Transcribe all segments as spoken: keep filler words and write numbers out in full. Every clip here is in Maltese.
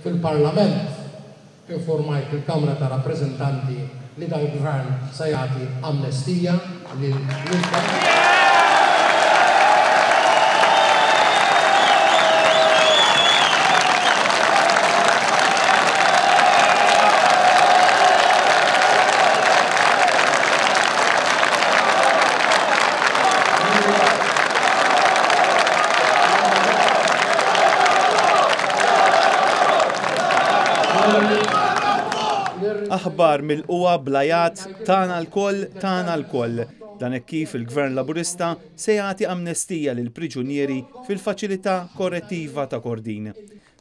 Fil-Parlament informajt il-Kamra ta' Rappreżentanti li dal-Gvern se jagħti amnestija lil Aħbar milqugħa bl-għajat "Tagħna lkoll, tagħna lkoll". Dan hekk kif il-Gvern Laburista se jagħti amnestija lil priġunieri fil-faċilità korrettiva ta' Kordin.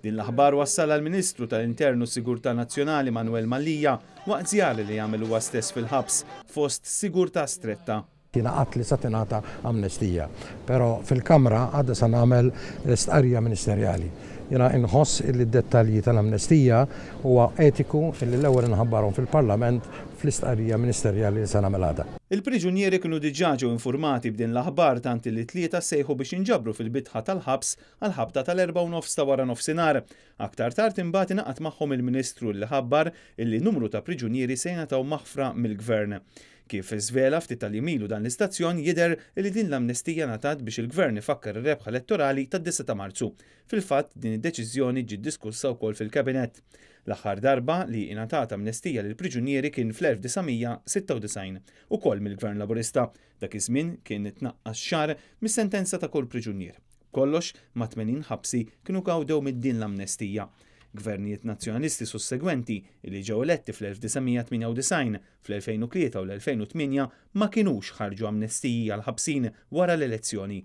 Din l-aħbar wassalha l-Ministru tal-Intern u Sigurtà Nazzjonali Manuel Mallia waqt żjara li għamel huwa stess fil-ħabs fost sigurtà stretta. Jiena għedt li sa tingħata amnestija, però fil-Kamra għada sa nagħmel stqarrija ministerjali. Jiena inħoss li d-dettalji tal-amnestija huwa etiku illi l-ewwel inħabbarhom fil-Parlament fl-istqarrija ministerjali li sa nagħmel għada. Il-priġunieri kienu diġà ġew informati b'din l-aħbar tant li t-Tlieta sejħu biex inġabru fil-bitħa tal-ħabs għal ħabta tal-erbgħa u nofs ta' wara nofsinhar. Aktar tard imbagħad ingħaqad magħhom il-Ministru li ħabbar illi numru ta' priġunieri se jingħataw maħfra mill-Gvern. Kif żvela ftit tal-jiem ilu dan l-istazzjon, jidher li din l-amnestija ngħatat biex il-Gvern ifakkar ir-rebħa elettorali tad-disgħa ta' Marzu. Fil-fatt, din id-deċiżjoni ġiet diskussa wkoll fil-Kabinett. L-aħħar darba li ingħatat amnestija lil priġunieri kien fl-elf disa' mija sitta u disgħin ukoll mill-Gvern Laburista. Dak iż-żmien kien tnaqqas xahar mis-sentenza ta' kull priġunier. Kollox ma' tmenin ħabsi kienu gawdew mid-din l-amnestija. Gvernijiet nazzjonalisti sussegwenti li ġew eletti fl-elf disa' mija tmienja u disgħin, fl-elfejn u tlieta u l-elfejn u tmienja ma kinux ħarġu amnestiji għal ħabsin wara l-elezzjoni.